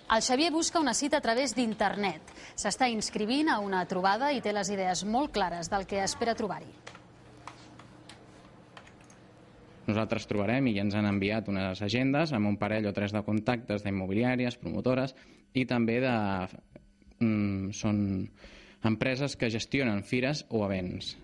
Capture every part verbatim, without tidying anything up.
El Xavier busca una cita a través d'internet. S'està inscrivint a una trobada i té les idees molt clares del que espera trobar-hi. Nosaltres trobarem i ja ens han enviat unes agendes amb un parell o tres de contactes d'immobiliàries, promotores i també de, mm, són empreses que gestionen fires o events.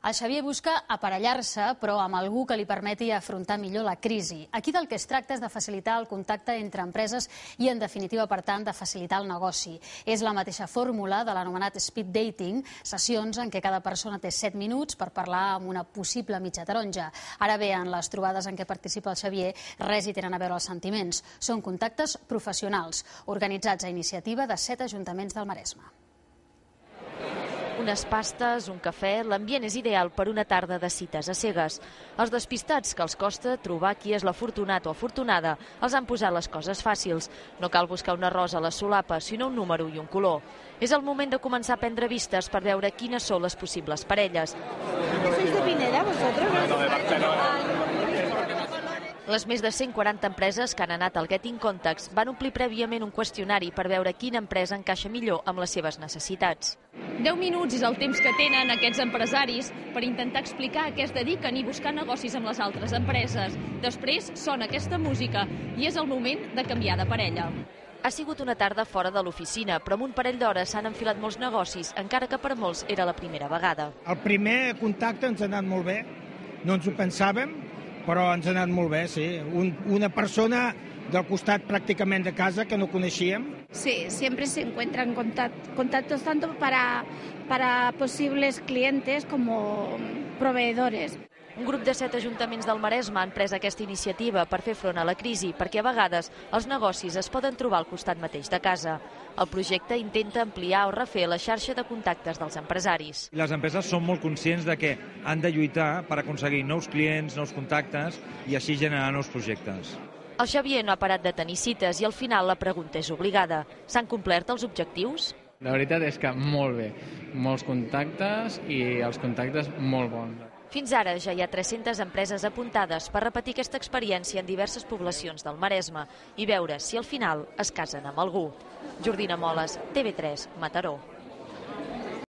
El Xavier busca aparellar-se, però amb algú que li permeti afrontar millor la crisi. Aquí del que es tracta és de facilitar el contacte entre empreses i, en definitiva, per tant, de facilitar el negoci. És la mateixa fórmula de l'anomenat speed dating, sessions en què cada persona té set minuts per parlar amb una possible mitja taronja. Ara bé, en les trobades en què participa el Xavier, res hi tenen a veure els sentiments. Són contactes professionals, organitzats a iniciativa de set ajuntaments del Maresme. Unes pastes, un cafè, l'ambient és ideal per una tarda de cites a cegues. Els despistats que els costa trobar qui és l'afortunat o afortunada els han posat les coses fàcils. No cal buscar una rosa a la solapa, sinó un número i un color. És el moment de començar a prendre vistes per veure quines són les possibles parelles. ¿Sois de Pineda, vosotros? No, de Barcelona. Les més de cent quaranta empreses que han anat al Getting Contacts van omplir prèviament un qüestionari per veure quina empresa encaixa millor amb les seves necessitats. deu minuts és el temps que tenen aquests empresaris per intentar explicar a què es dediquen i buscar negocis amb les altres empreses. Després sona aquesta música i és el moment de canviar de parella. Ha sigut una tarda fora de l'oficina, però en un parell d'hores s'han enfilat molts negocis, encara que per molts era la primera vegada. El primer contacte ens ha anat molt bé, no ens ho pensàvem, però ens ha anat molt bé, sí. Un, una persona del costat pràcticament de casa que no coneixíem. Sí, siempre se encuentran contact, contactos tanto para, para posibles clientes como proveedores. Un grup de set ajuntaments del Maresme han pres aquesta iniciativa per fer front a la crisi, perquè a vegades els negocis es poden trobar al costat mateix de casa. El projecte intenta ampliar o refer la xarxa de contactes dels empresaris. Les empreses són molt conscients de que han de lluitar per aconseguir nous clients, nous contactes i així generar nous projectes. El Xavier no ha parat de tenir cites i al final la pregunta és obligada. S'han complert els objectius? La veritat és que molt bé. Molts contactes i els contactes molt bons. Fins ara ja hi ha tres-centes empreses apuntades per repetir aquesta experiència en diverses poblacions del Maresme i veure si al final es casen amb algú. Jordina Moles, T V tres, Mataró.